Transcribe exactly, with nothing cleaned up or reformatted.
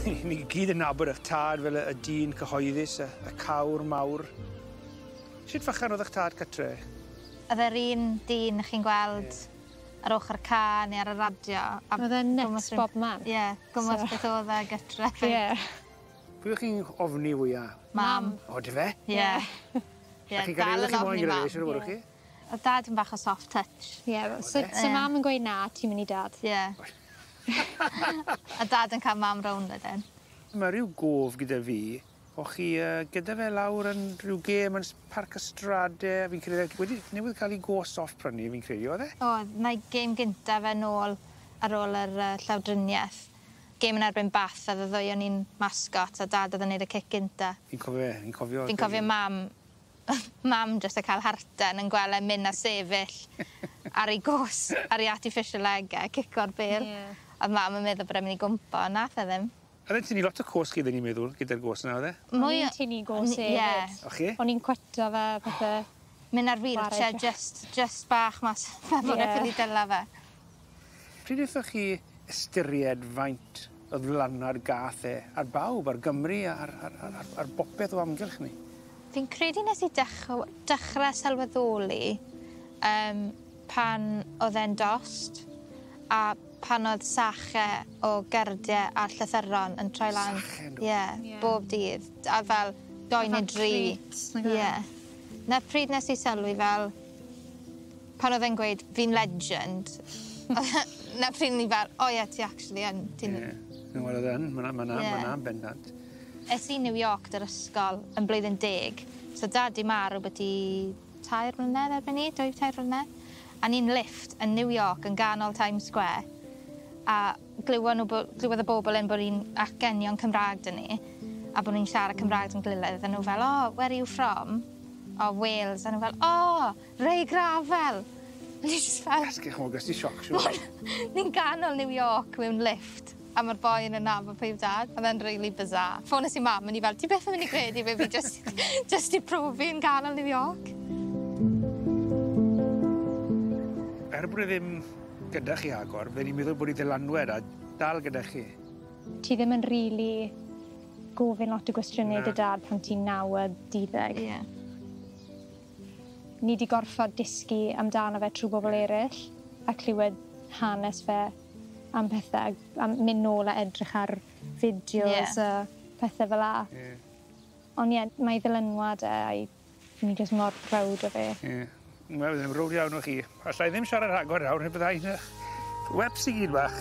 Ni gyd yn nabod eich tad fel y, y dyn cyhoeddus, y, y cawr mawr. Sut fachan oedd eich tad catre? Oedd e'r un dyn chi'n gweld yeah. ar ochr ca neu ar y radio. Oedd e'n nuts bob man. Ie, yeah, gwmws so. Beth oedd e gytre. Ie. Yeah. Pwy o'ch chi'n ofni fwya? Mam. O, dy fe? Ie. Ie, dal yn ofni mam. Ie. Oedd dad yn bach o soft touch. Ie, yeah, so, so mam yn gweud na, ti'n mynd i dad. Ie. A dad yn cael mam rownd wedyn. Mae rhyw gof gyda fi, o'ch chi uh, gyda fe lawr yn rhyw gêm yn Parc y Strade, fi'n credu, wedi newydd cael ei gos off prynu, fi'n credu, oedd e? Oedd, na'i gêm gynta fe nôl ar ôl yr uh, llawdriniaeth. Gêm yn erbyn Bath, a ddwy o'n i'n mascot, a dad oedd yn neud y cic gynta. Fi'n cofio, fi'n cofio. Fi'n cofio mam, mam jyst yn cael harten yn gweld e mynd a sefyll ar ei gos, ar ei artificial leg e, cico'r bêl. Yeah. Oedd mam yn meddwl bod e'n mynd i gwmpo, nath e ddim. Oedd e'n tynnu lot o cos chi, ddyn ni'n meddwl, gyda'r gos yna, oedd e? O'n i'n tynnu gos hefyd. Ie. O chi? O'n i'n cwetio fe, pethe. Mynd ar wheelchair, just, just bach mas, fel bod e ffili dyla fe. Pryd wnaethoch chi ystyried faint o ddylanwad gath e ar bawb, ar Gymru, ar, ar, ar, ar, ar bopeth o amgylch ni? Fi'n credu nes i dech- dechrau sylweddoli um, pan oedd e'n dost a pan oedd sache o gerdiau a llythyron yn troi lan. Sache yn dod? Ie, Ie. bob dydd. A fel doi neu dri. Ie. Na pryd nes i sylwi fel, pan oedd e'n gweud, fi'n legend, na pryd ni fel, o ie, ti actually yn. Ti'n... Ie. Wel, oedd yn, ma' 'na, ma' 'na, Ie. ma' 'na'n bendant. Es i New York dy'r ysgol yn blwyddyn deg. So dad di marw byti tair mlynedd erbyn ni, dwy tair mlynedd. A ni'n lift yn New York yn ganol Times Square. A glywon nhw, bo- glywodd y bobl yn bod ni'n acenion Cymraeg dyn ni. A bod ni'n siarad Cymraeg yn gilydd. A nhw fel, oh, where are you from? Oh, Wales. A nhw fel, oh, Ray Gravell. A ni just fel, Gas, ch'mo', ges ti sioc, siŵr. ni'n ganol New York mewn lift. A mae'r boi yn nabod pwy yw dad. Oedd e'n really bizarre. Ffones i mam, o'n i fel, ti beth yn mynd i gredu fe fi just, just i profi yn ganol New York? Er bod e ddim gyda chi agor, fydden i'n meddwl bod ei ddylanwed a dal gyda chi. Ti ddim yn rili gofyn lot o gwestiynau Na. dy dad pan ti'n naw a deuddeg. Ie. Ni 'di gorfod dysgu amdano fe trwy bobl eraill a clywed hanes fe am pethau, a mynd nôl a edrych ar fideos Ie. a pethau fel 'a. Ie. Ond ie, mae ei ddylanwad e a'i ni jyst mor proud o fe. Ie. Wel, byddai'n browd iawn o chi. Alla i ddim siarad rhagor nawr, neu byddai'n weps i gyd bach.